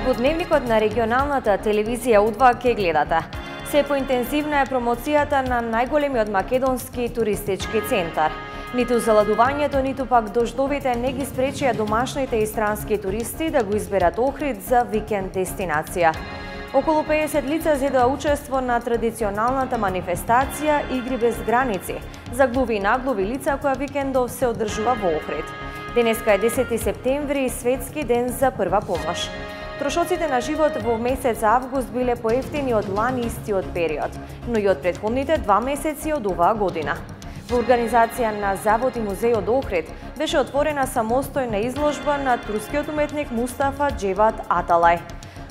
Во дневникот на регионалната телевизија У2 ке гледате. Се поинтензивна е промоцијата на најголемиот македонски туристички центар. Ниту заладувањето, ниту пак дождовите не ги спречија домашните и странски туристи да го изберат Охрид за викенд дестинација. Околу 50 лица зедоа учество на традиционалната манифестација Игри без граници за глуви и наглуви лица која викендов се одржува во Охрид. Денеска е 10 септември, светски ден за прва помош. Трошоците на живот во месец август биле поевтини од лани истиот период, но и од претходните 2 месеци од оваа година. Во организација на Завод и музејот Охрид беше отворена самостојна изложба на турскиот уметник Мустафа Джевад Аталај.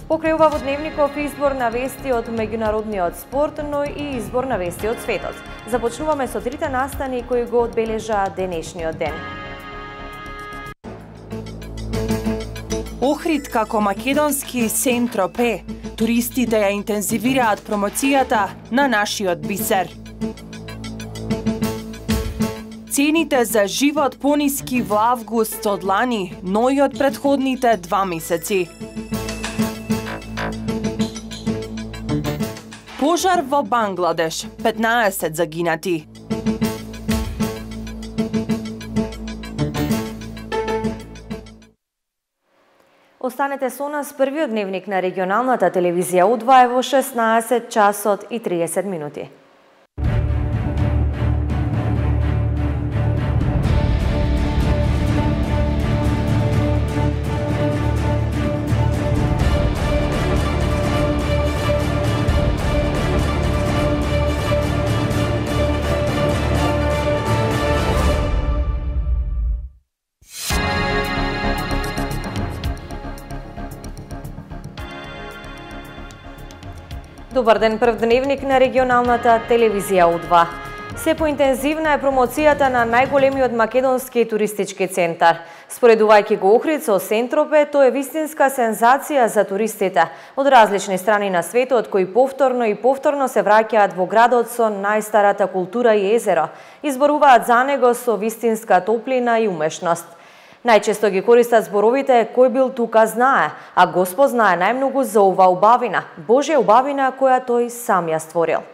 Покрај ова во дневников избор на вести од меѓународниот спорт, но и избор на вести од светот. Започнуваме со трите настани кои го одбележаа денешниот ден. Охрид како македонски Сен-Тропе. Туристите ја интензивираат промоцијата на нашиот бисер. Цените за живот пониски во август од лани, но и од претходните 2 месеци. Пожар во Бангладеш, 15 загинати. Останете со нас, првиот дневник на регионалната телевизија У2 во 16 часот и 30 минути. Добар ден, прв дневник на регионалната телевизија У2. Се поинтензивна е промоцијата на најголемиот македонски туристички центар. Споредувајќи го Охрид со Сен-Тропе, тоа е вистинска сензација за туристите од различни страни на светот кои повторно се враќаат во градот со најстарата култура и езеро, изборуваат за него со вистинска топлина и умешност. Најчесто ги користат зборовите „кој бил тука знае“, а Господ знае најмногу за оваа убавина, Божја убавина која тој сам ја створил.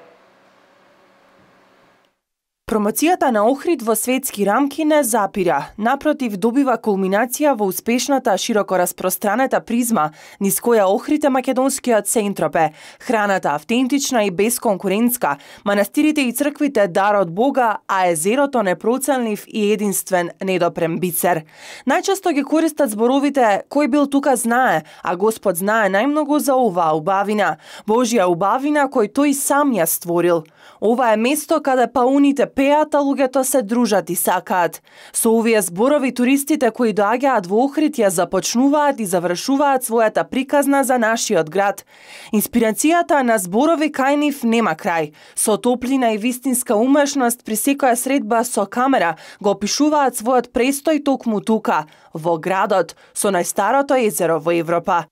Промоцијата на Охрид во светски рамки не запира, напротив добива кулминација во успешната широко распространета призма низ која Охрид е македонскиот Сен-Тропе, храната автентична и безконкурентска, манастирите и црквите дар од Бога, а езерото непроценлив и единствен недопрем бисер. Најчесто ги користат зборовите „кој бил тука знае“, а Господ знае најмногу за оваа убавина, Божја убавина кој тој сам ја створил. Ова е место каде пауните пеат, а луѓето се дружат и сакаат. Со овие зборови туристите кои доаѓаат во Охрид ја започнуваат и завршуваат својата приказна за нашиот град. Инспирацијата на зборови кај нив нема крај. Со топлина и вистинска умешност при секоја средба со камера го опишуваат својот престој токму тука, во градот, со најстарото езеро во Европа.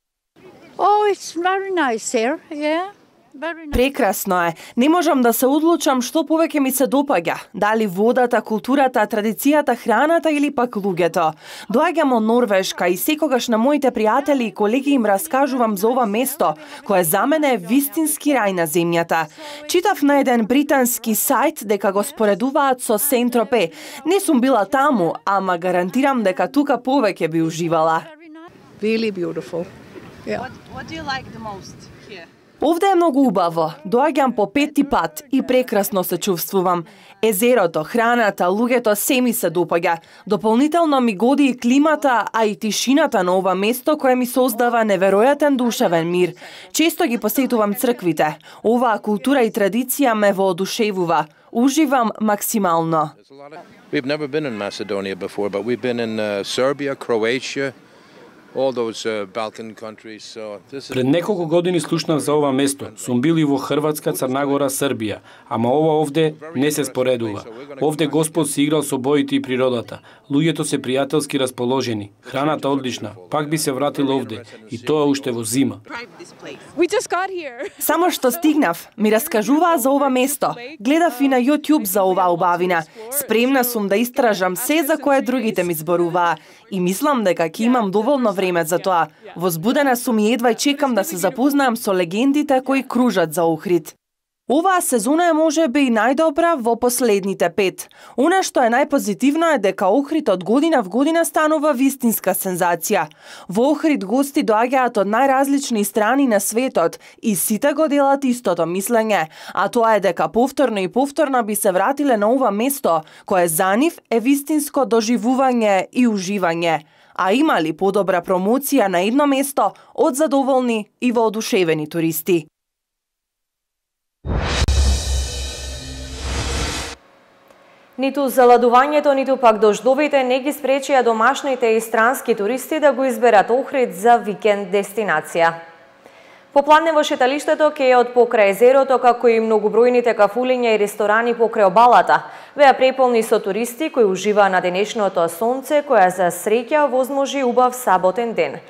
Oh, it's very nice here, yeah. Прекрасно е. Не можам да се одлучам што повеќе ми се допаѓа. Дали водата, културата, традицијата, храната или пак луѓето. Доаѓам од Норвешка и секогаш на моите пријатели и колеги им раскажувам за ова место, кое за мене е вистински рај на земјата. Читав на еден британски сајт дека го споредуваат со Сен-Тропе. Не сум била таму, ама гарантирам дека тука повеќе би уживала. Really beautiful. Yeah. What do you like the most here? Овде е многу убаво. Доаѓам по 5-ти пат и прекрасно се чувствувам. Езерото, храната, луѓето се ми се допаѓа. Дополнително ми годи и климата, а и тишината на ова место кое ми создава неверојатен душевен мир. Често ги посетувам црквите. Оваа култура и традиција ме воодушевува. Уживам максимално. We've never been in Macedonia before, but we've been in Serbia, Croatia, all those Balkan countries. So this is... Пред неколку години слушнав за ова место. Сум бил и во Хрватска, Црнагора, Србија, ама ова овде не се споредува. Овде Господ се играл со боите и природата. Луѓето се пријателски расположени, храната одлична. Пак би се вратил овде и тоа уште во зима. Само што стигнав, ми раскажуваа за ова место. Гледав и на YouTube за оваа убавина. Спремна сум да истражам се за кое другите ми зборуваа и мислам дека ќе имам доволно време за тоа. Возбудена сум и едва чекам да се запознаам со легендите кои кружат за Охрид. Оваа сезона е можеби и најдобра во последните 5. Она што е најпозитивно е дека Охрид од година в година станува вистинска сензација. Во Охрид гости доаѓаат од најразлични страни на светот и сите го делат истото мислење, а тоа е дека повторно и повторно би се вратиле на ова место, кое за нив е вистинско доживување и уживање. А има ли подобра промоција на едно место од задоволни и воодушевени туристи? Ниту заладувањето, ниту пак дождовите не ги спречија домашните и странски туристи да го изберат Охрид за викенд дестинација. Попладне во шеталиштето кејот покрај езерото, како и многобројните кафулиња и ресторани покрај обалата, беа преполни со туристи кои уживаа на денешното сонце, која за среќа возможи убав саботен ден.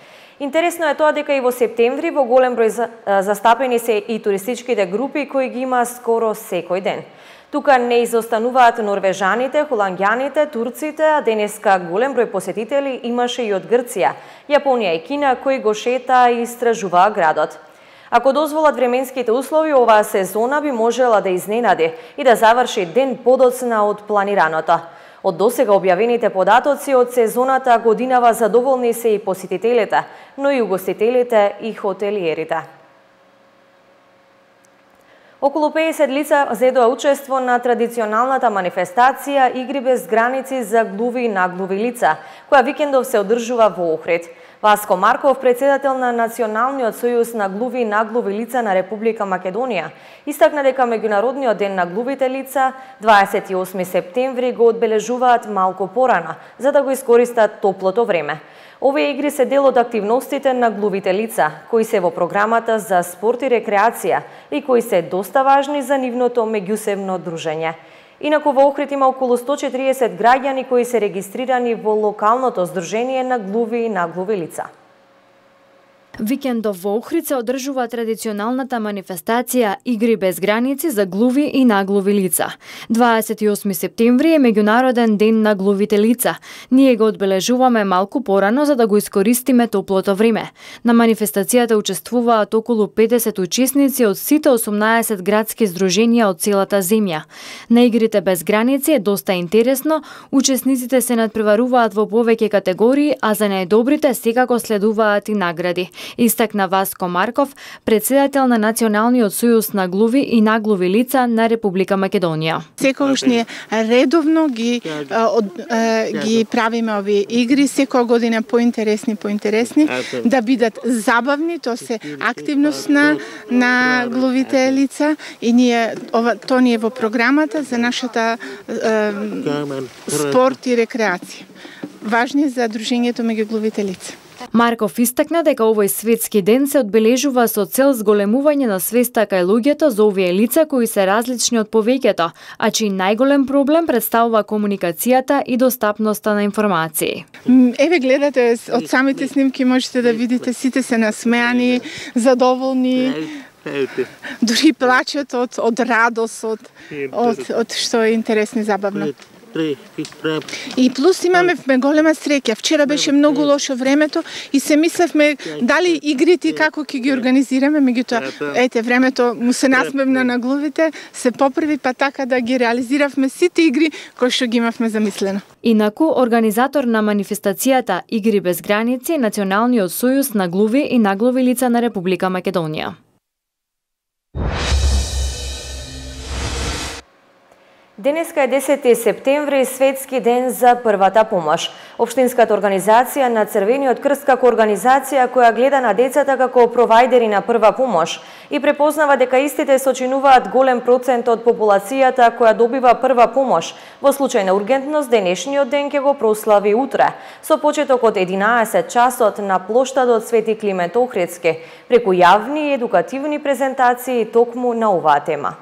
Интересно е тоа дека и во септември во голем број застапени се и туристичките групи кои ги има скоро секој ден. Тука не изостануваат норвежаните, холанѓаните, турците, а денеска голем број посетители имаше и од Грција, Јапонија и Кина кои го шетаа и истражуваа градот. Ако дозволат временските услови, оваа сезона би можела да изненади и да заврши ден подоцна од планираното. Од досега објавените податоци од сезоната годинава задоволни се и посетителите, но и угостителите и хотелиерите. Околу 50 лица зедоа учество на традиционалната манифестација Игри без граници за глуви и наглуви лица, која викендов се одржува во Охрид. Васко Марков, председател на Националниот сојуз на глуви и наглуви лица на Република Македонија, истакна дека Меѓународниот ден на глувите лица 28 септември го одбележуваат малку порано, за да го искористат топлото време. Овие игри се дел од активностите на глувите лица, кои се во програмата за спорт и рекреација и кои се доста важни за нивното меѓусебно дружење. Инаку во Охрид има околу 140 граѓани кои се регистрирани во локалното здружение на глуви и наглуви лица. Викендов во Охрид се одржува традиционалната манифестација Игри без граници за глуви и наглуви лица. 28 септември е Меѓународен ден на глувите лица. Ние го одбележуваме малку порано за да го искористиме топлото време. На манифестацијата учествуваат околу 50 учесници од сите 18 градски здруженија од целата земја. На Игрите без граници е доста интересно, учесниците се надпреваруваат во повеќе категории, а за најдобрите секако следуваат и награди. Истакна Васко Марков, председател на Националниот сојуз на глуви и наглуви лица на Република Македонија. Секогаш ние редовно ги правиме овие игри, секоја година поинтересни, да бидат забавни, тоа се активност на глувите лица и ние тоа ни е во програмата за нашата спорт и рекреација. Важни за дружењето меѓу глувите лица. Марков истакна дека овој светски ден се одбележува со цел зголемување на свеста кај луѓето за овие лица кои се различни од повеќето, а чиј најголем проблем представува комуникацијата и достапноста на информации. Еве гледате од самите снимки можете да видите сите се насмеани, задоволни. Дури плачат од радост, од што е интересно и забавно. И плюс имаме голема среќа. Вчера беше многу лошо времето и се мислевме дали игрите како ќе ги организираме, меѓутоа времето му се насмевна на глувите, се поправи па така да ги реализиравме сите игри кои што ги имавме замислено. Инаку, организатор на манифестацијата Игри без граници е Националниот сојуз на глуви и наглуви лица на Република Македонија. Денеска е 10 септември, светски ден за првата помош. Општинската организација на Црвениот крст како организација која гледа на децата како провајдери на прва помош и препознава дека истите сочинуваат голем процент од популацијата која добива прва помош. Во случај на ургентност, денешниот ден ќе го прослави утре, со почеток од 11 часот на плоштадот Свети Климент Охридски, преку јавни и едукативни презентации токму на оваа тема.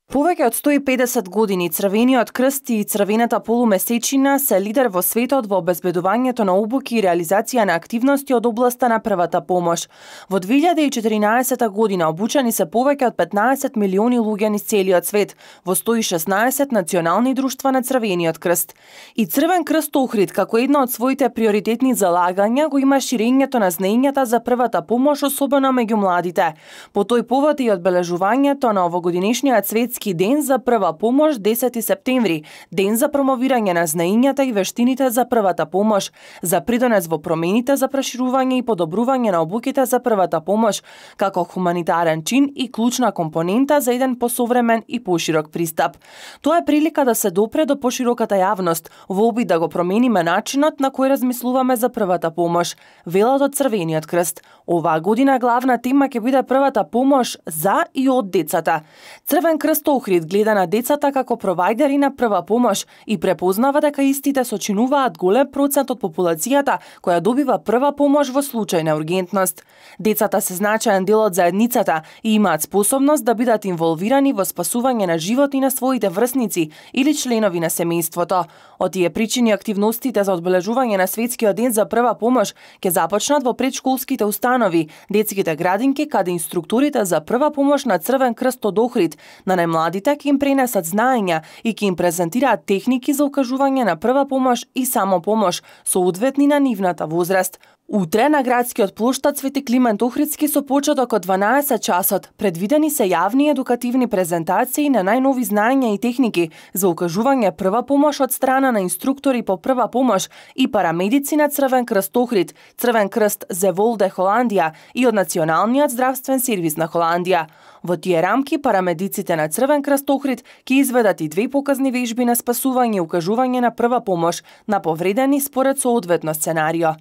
Повеќе од 150 години Црвениот крст и Црвената полумесечина се лидер во светот во обезбедувањето на обуки и реализација на активности од областа на првата помош. Во 2014 година обучени се повеќе од 15 милиони луѓе низ целиот свет во 116 национални друштва на Црвениот крст. И Црвен крст Охрид како една од своите приоритетни залагања го има ширењето на знаењата за првата помош, особено меѓу младите. По тој повод и одбележувањето на овогодинешниот светски ден за прва помош 10 септември, ден за промовирање на знаењата и вештините за првата помош, за придонес во промените за проширување и подобрување на обуките за првата помош, како хуманитарен чин и клучна компонента за еден посовремен и поширок пристап. Тоа е прилика да се допре до пошироката јавност, во обид да го промениме начинот на кој размислуваме за првата помош, велат од Црвениот крст. Оваа година главна тема ќе биде првата помош за и од децата. Црвен крст Охрид гледа на децата како провајдери на прва помош и препознава дека истите сочинуваат голем процент од популацијата која добива прва помош во случај на ургентност. Децата се значаен дел од заедницата и имаат способност да бидат инволвирани во спасување на животи на своите врсници или членови на семејството. Од тие причини активностите за одбележување на светскиот ден за прва помош ќе започнат во предшколските установи, детските градинки, каде инструкторите за прва помош на Црвен крст од Охрид на најмладите ќе им пренесат знаења и ќе им презентираат техники за укажување на прва помош и самопомош, соодветни на нивната возраст. Утре на градскиот плоштад Свети Климент Охридски со почеток од 12 часот предвидени се јавни едукативни презентации на најнови знаења и техники за укажување прва помош од страна на инструктори по прва помош и парамедици на Црвен крст Охрид, Црвен крст Зеволде Холандија и од Националниот здравствен сервис на Холандија. Во тие рамки парамедиците на Црвен крст Охрид ќе изведат и 2 показни вежби на спасување и укажување на прва помош на повредени според соодветно сценарио.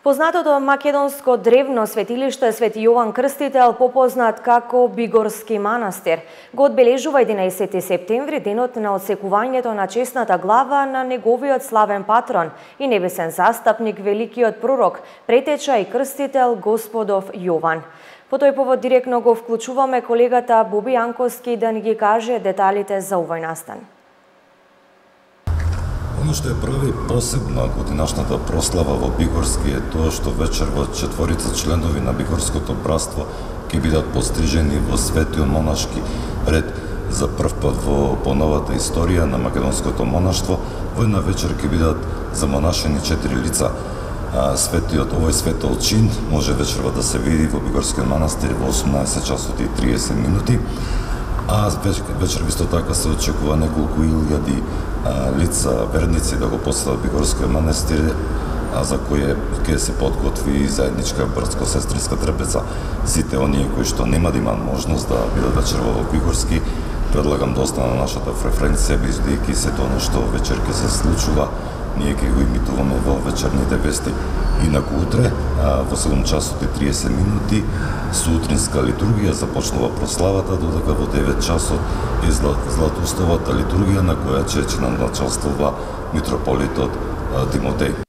Познатото македонско древно светилиште Свети Јован Крстител, попознат како Бигорски манастир, го одбележува 11 септември денот на отсекувањето на чесната глава на неговиот славен патрон и небесен застапник, великиот пророк, претеча и крстител Господов Јован. По тој повод директно го вклучуваме колегата Боби Јанковски да ни ги каже деталите за овој настан. Оно што ја прави посебна годинашната прослава во Бигорски е тоа што вечер во 4 членови на Бигорското братство ќе бидат пострижени во светиот монашки ред за прв пат во поновата историја на македонското монаштво. Во една вечер ќе бидат замонашени 4 лица. Овој светол чин може вечерва да се види во Бигорскиот манастир во 18 часот и 30 минути. А вечер исто така се очекува неколку илјади лица, верници да го посетат Бигорскиот манастир, за кој ќе се подготви заедничка братско-сестринска трапеза. Сите оние кои што нема да имаат можност да бидат вечерва во Бигорски, предлагам да остана на нашата преференција, бидејќи сето оно што вечер ќе се случува, ние ќе го имитуваме во вечерните вести. Инаку утре, во 7 часот и 30 минути, сутринска литургија започнува прославата, додека во 9 часот е златоустовата литургија на која ќе началствува митрополитот Тимотеј.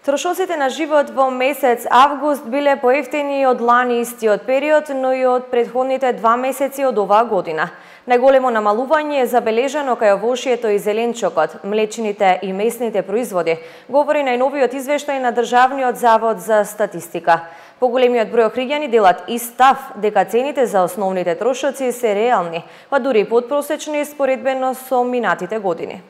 Трошоците на живот во месец август биле поевтини од лани истиот период, но и од претходните 2 месеци од оваа година. Најголемо намалување е забележано кај овошјето и зеленчокот, млечните и месните производи, говори најновиот извештај на Државниот завод за статистика. Поголемиот број охриѓани делат и став дека цените за основните трошоци се реални, па дури подпросечни споредбено со минатите години.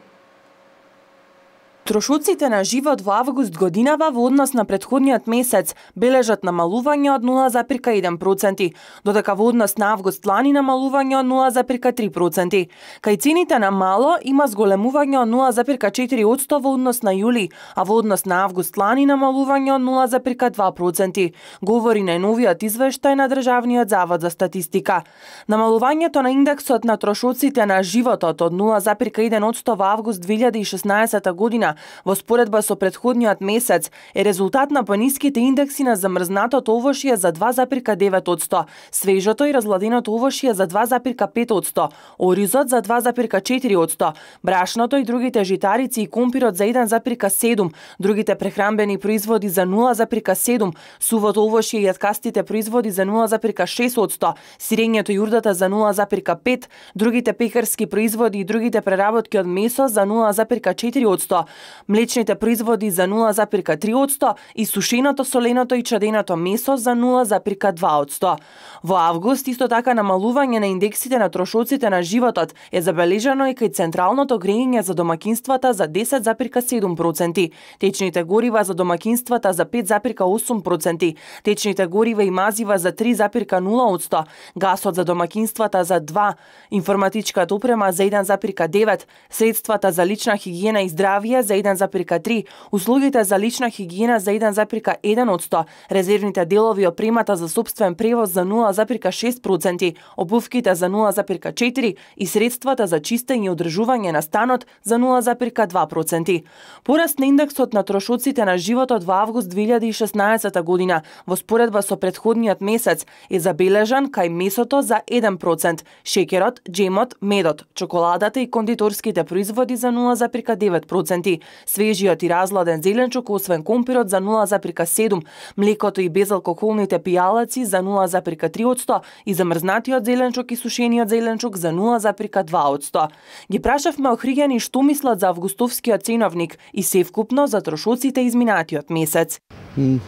Трошоците на живот во август годинава во однос на претходниот месец бележат намалување од 0,1%, додека во однос на август лани намалување од 0,3%. Кај цените на мало има зголемување од 0,4% во однос на јули, а во однос на август лани намалување од 0,2%, говори најновиот извештај на Државниот завод за статистика. Намалувањето на индексот на трошоците на животот од 0,1% во август 2016 година во споредба со претходниот месец е резултат на пониските индекси на замрзнатото овошје за 2,9%, свежото и разладеното овошје за 2,5%, оризот за 2,4%, брашното и другите житарици и компирот за 1,7%, другите прехранбени производи за 0,7%, сувото овошје и јаткастите производи за 0,6%, сирењето и урдата за 0,5%, другите пекарски производи и другите преработки од месо за 0,4%, млечните производи за 0,3% и сушеното, соленото и чаденото месо за 0,2%. Во август исто така намалување на индексите на трошоците на животот е забележано и кај централното грејење за домакинствата за 10,7%, течните горива за домакинствата за 5,8%, течните горива и мазива за 3,0%, гасот за домакинствата за 2%, информатичката опрема за 1,9%, средствата за лична хигиена и здравје за 1,3%, услугите за лична хигиена за 1,1%, резервните делови и опремата за сопствен превоз за 0,6%, обувките за 0,4% и средствата за чистење и одржување на станот за 0,2%. Пораст на индексот на трошоците на животот во август 2016 година во споредба со претходниот месец е забележан кај месото за 1%, шеќерот, джемот, медот, чоколадата и кондиторските производи за 0,9%, свежиот и разладен зеленчук освен компирот за 0,7%, млекото и безалкохолните пијалаци за 0,3% и замрзнатиот зеленчук и сушениот зеленчук за 0,2%. Ги прашавме охриѓани што мислат за августовскиот ценовник и севкупно за трошоците изминатиот месец.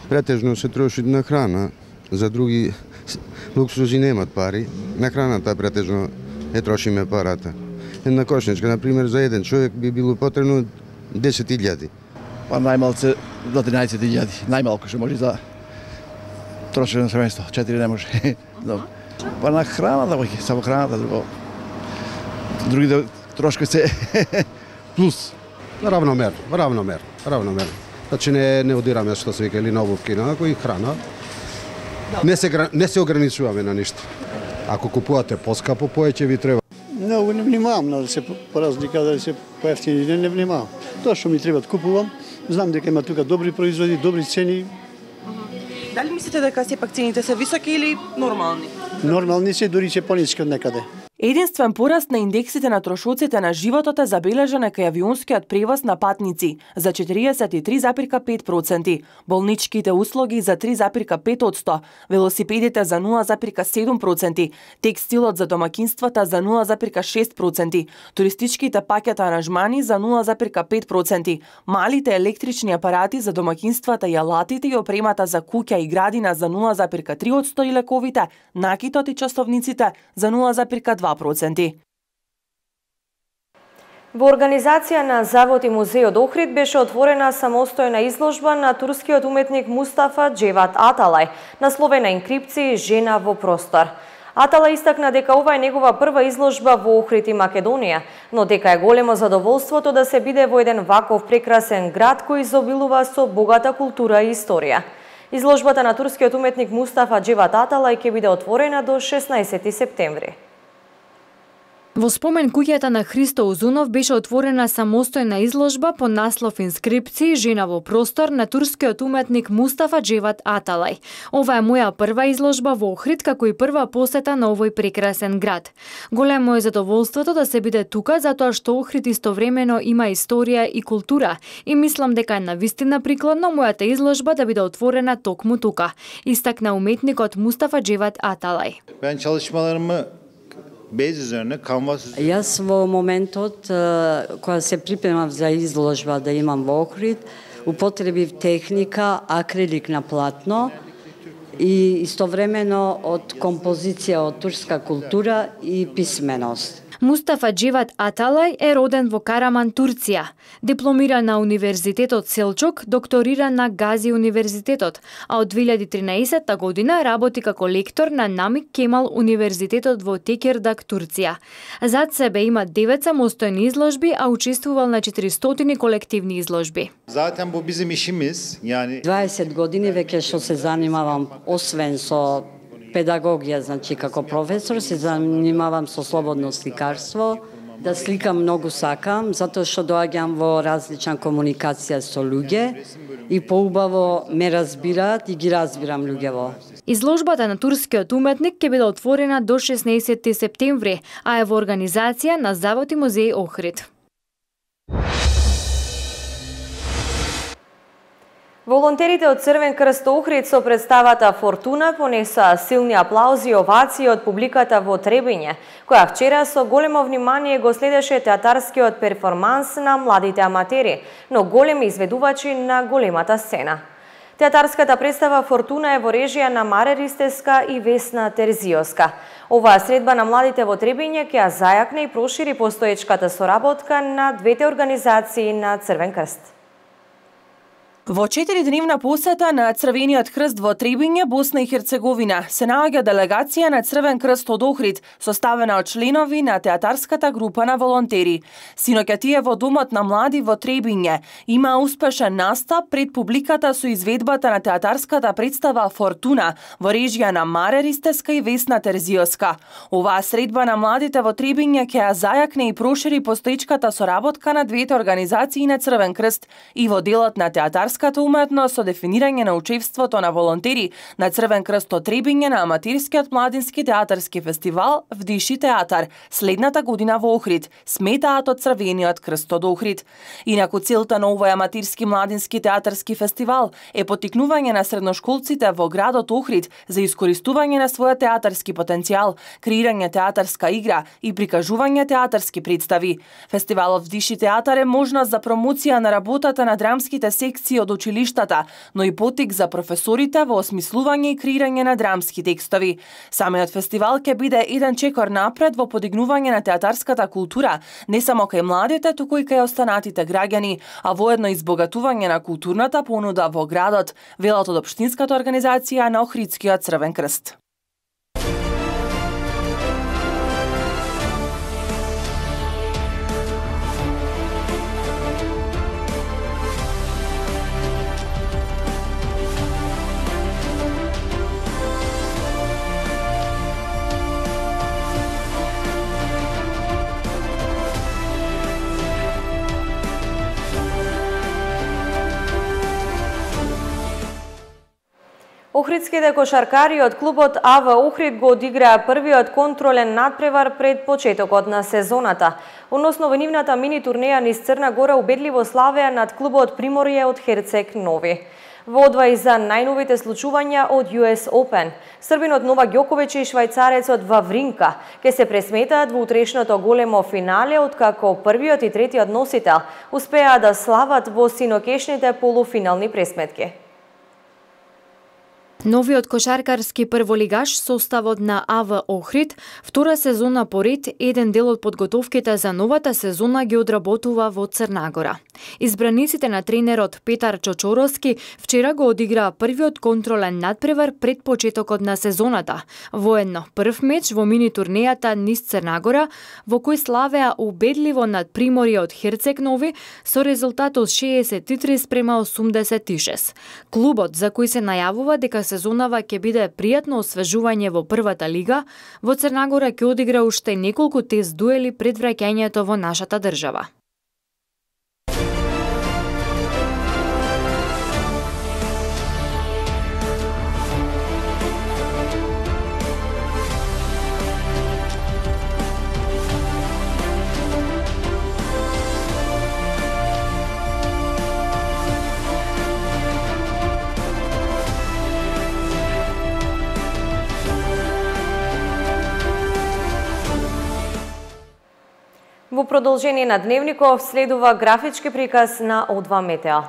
Претежно се троши на храна, за други луксузи немат пари. На храната претежно трошиме парата. Една кошничка, например, за еден човек би било потребно 10.000. Па најмалце до 13.000, најмалку што може за трошено семејство, 4 не може. Па на храната, само храната, другите трошки се плюс. Равномерно. Значи не одираме што се вика или на обувки, на и храна. Не се ограничуваме на ништо. Ако купувате поскапо, повеќе ви треба. Много не внимавам да се поразлика, да се поевтини, не внимавам. Тоа што ми треба да купувам, знам дека има тука добри производи, добри цени. Дали мислите дека сепак цените се високи или нормални? Нормални се, дури се пониски од некаде. Единствен пораст на индексите на трошоците на животот е забележан кај авионскиот превоз на патници за 43,5%, болничките услуги за 3,5%, велосипедите за 0,7%, текстилот за домакинствата за 0,6%, туристичките пакета аранжмани за 0,5%, малите електрични апарати за домакинствата и алатите и опремата за куќа и градина за 0,3% и лековите, накитот и часовниците за 0,2%. Во организација на Завод и музејот Охрид беше отворена самостојна изложба на турскиот уметник Мустафа Джеват Аталај, насловена Инкрипции жена во простор. Аталај истакна дека ова е негова прва изложба во Охрид и Македонија, но дека е големо задоволството да се биде во еден ваков прекрасен град кој изобилува со богата култура и историја. Изложбата на турскиот уметник Мустафа Джеват Аталај ќе биде отворена до 16 септември. Во спомен куќата на Христо Узунов беше отворена самостојна изложба по наслов Инскрипции жена во простор на турскиот уметник Мустафа Джеват Аталај. Ова е моја прва изложба во Охрид како и прва посета на овој прекрасен град. Големо е задоволството да се биде тука затоа што Охрид истовремено има историја и култура и мислам дека е навистина прикладно мојата изложба да биде отворена токму тука, истакна уметникот Мустафа Джеват Аталај. Ben çalışmalarımı bez üzerine kanvas üzerine. Јас во моментот кога се припремав за изложба да имам во Охрид, употребив техника акрилик на платно и истовремено од композиција од турска култура и писменост. Мустафа Джеват Аталај е роден во Караман, Турција. Дипломира на Универзитетот Селчук, докторира на Гази Универзитетот, а од 2013 година работи како лектор на Намик Кемал Универзитетот во Текердак, Турција. Зад себе има 9 самостојни изложби, а учествувал на 400 колективни изложби. Zaten bu bizim işimiz. Yani 20 години веќе што се занимавам освен со педагогија, значи како професор, се занимавам со слободно сликарство Да сликам многу сакам, затоа што доаѓам во различна комуникација со луѓе и поубаво ме разбираат и ги разбирам луѓево. Изложбата на турскиот уметник ќе биде отворена до 16 септември, а е во организација на Завод и музеј Охрид. Волонтерите од Црвен крст Охрид со представата Фортуна понесоа силни аплаузи и овации од публиката во Требиње, која вчера со големо внимание го следеше театарскиот перформанс на младите аматери, но големи изведувачи на големата сцена. Театарската представа Фортуна е во режија на Маре Ристеска и Весна Терзиоска. Оваа средба на младите во Требиње ќе ја зајакне и прошири постоечката соработка на двете организации на Црвен крст. Во 4-дневна посета на Црвениот крст во Требиње, Босна и Херцеговина, се наоѓа делегација на Црвен крст од Охрид, составена од членови на театарската група на волонтери. Синоќа тие во Домот на млади во Требиње има успешен настап пред публиката со изведбата на театарската представа Фортуна во режија на Маре Ристеска и Весна Терзиоска. Оваа средба на младите во Требиње ќе ја зајакне и прошири постоечката соработка на двете организации на Црвен крст и во делот на театарската уметност со дефинирање на учеството на волонтери на Црвен крст од Требиње на аматирскиот младински театарски фестивал Вдиши театар следната година во Охрид, сметаат од Црвениот крст од Охрид. Инаку целта на овој аматирски младински театарски фестивал е поттикнување на средношколците во градот Охрид за искористување на својот театарски потенцијал, креирање театарска игра и прикажување театарски представи. Фестивалот Вдиши театар е можност за промоција на работата на драмските секции од училиштата, но и потик за професорите во осмислување и креирање на драмски текстови. Самиот фестивал ќе биде еден чекор напред во подигнување на театарската култура, не само кај младите, туку и кај останатите граѓани, а воедно избогатување на културната понуда во градот, велат од општинската организација на Охридскиот Црвен крст. Охридските кошаркари од клубот АВ Охрид го одиграа првиот контролен надпревар пред почетокот на сезоната. Односно во нивната мини турнеја низ Црна Гора убедливо славеа над клубот Приморје од Херцег Нови. Водва и за најновите случувања од US Open. Србинот Новак Ѓоковиќ и швајцарецот Вавринка ке се пресметаат во утрешното големо финале, откако првиот и третиот носител успеа да слават во синокешните полуфинални пресметки. Новиот кошаркарски прволигаш составот на АВ Охрид втора сезона поред еден дел од подготовките за новата сезона ги одработува во Црна Гора. Избраниците на тренерот Петар Чочоровски вчера го одиграа првиот контролен надпревар пред почетокот на сезоната. Воедно прв меч во мини турнејата низ Црна Гора, во кој славеа убедливо над Приморје од Херцег Нови со резултатот 63-86. Клубот, за кој се најавува дека сезонава ќе биде пријатно освежување во првата лига, во Црна Гора ќе одигра уште неколку тест дуели пред враќањето во нашата држава. Во продолжение на Дневников следува графички приказ на О2 Метео.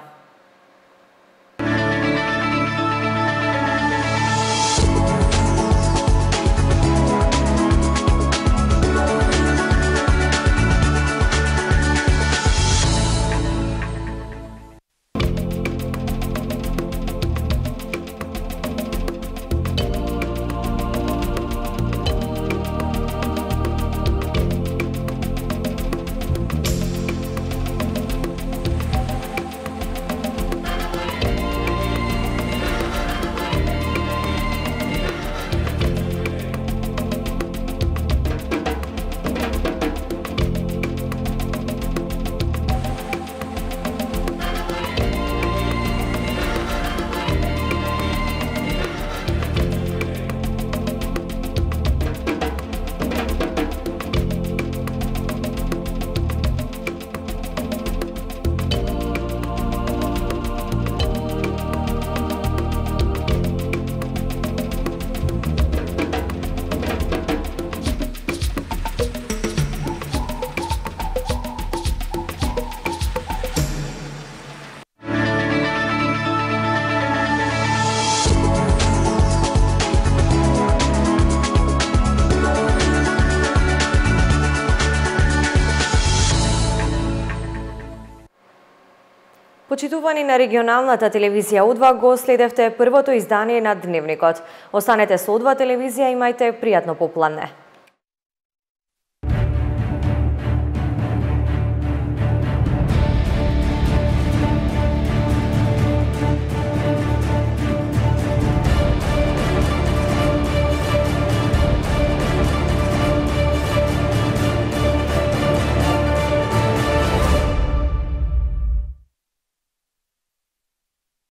Почитувани на регионалната телевизија У2 го следевте првото издание на Дневникот. Останете со У2 телевизија, имајте пријатно попладне.